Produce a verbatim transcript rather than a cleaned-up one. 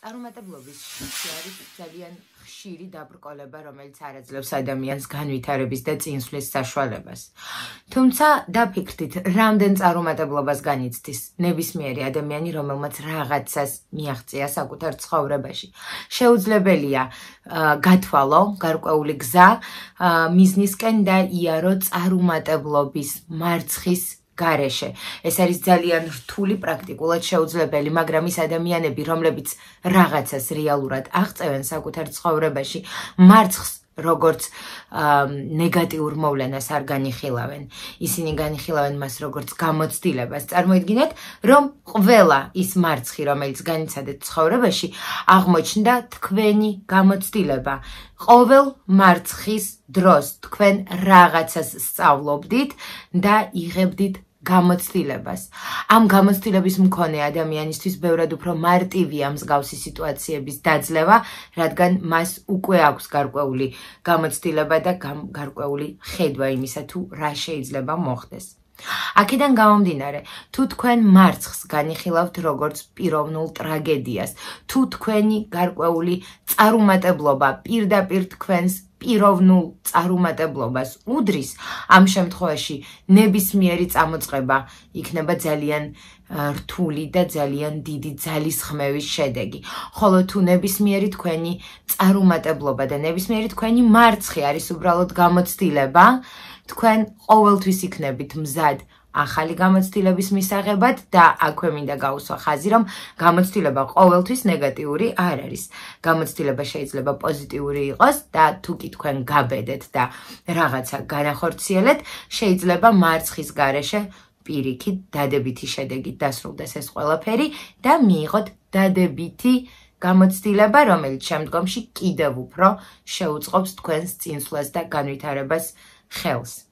წარუმატებლობის შიში არის ძალიან ხშირი დაბრკოლება, რომელიც არაძლევს ადამიანს განვითარების და წინსვლის საშუალებას. თუმცა დაფიქრდით, რამდენ წარუმატებლობას განიცდის ნებისმიერი ადამიანი, რომელმაც რაღაცას მიაღწია საკუთარ ცხოვრებაში. შეუძლებელია გათვალო გარკვეული გზა მიზნისკენ და იარო წარუმატებლობის მარცხის გარეშე. ეს არის ძალიან რთული პრაქტიკულად შეუძლებელი, მაგრამ ის ადამიანები, რომლებიც რაღაცას რეალურად აღწევენ საკუთარ ცხოვრებაში, მარცხს როგორც ნეგატიურ მოვლენას არ განიხილავენ. ისინი განიხილავენ მას როგორც გამოცდილებას. წარმოიდგინეთ, რომ ყველა ის მარცხი, რომელიც განიცადეთ ცხოვრებაში, აღმოჩნდა თქვენი გამოცდილება. ყოველ მარცხის დროს თქვენ რაღაცას სწავლობდით და იღებდით გამოცდილებას. ამ გამოცდილების მქონე ადამიანისთვის ბევრად უფრო მარტივია მსგავსი სიტუაციების დაძლევა, რადგან მას უკვე აქვს გარკვეული გამოცდილება და გარკვეული ხედვა იმისა, თუ რა შეიძლება მოხდეს. აქედან გამომდინარე, თუ თქვენ მარცხს განიხილავთ როგორც პიროვნულ ტრაგედიას, თუ თქვენი გარკვეული წარუმატებლობა პირდაპირ თქვენს პიროვნულ წარუმატებლობას უდრის, ამ შემთხვევაში ნებისმიერი წამოწყება იქნება ძალიან რთული და ძალიან დიდი ძალისხმევის შედეგი. ხოლო თუ ნებისმიერი თქვენი წარუმატებლობა და ნებისმიერი თქვენი მარცხი არის უბრალოდ გამოცდილება, თქვენ ყოველთვის იქნებით მზად ახალი გამოცდილების მისაღებად და აქვე მინდა გაუსვა ხაზი, რომ გამოცდილება ყოველთვის ნეგატიური არ არის. გამოცდილება შეიძლება პოზიტიური იყოს და თუ კი თქვენ გაბედეთ და რაღაცა განახორციელეთ, შეიძლება მარცხის გარეშე პირიქით დადებითი შედეგით დასრულდეს ეს ყველაფერი და მიიღოთ დადებითი გამოცდილება, რომელიც შემდგომში კიდევ უფრო შეუწყობს თქვენს წინსვლას და განვითარებას ხელს.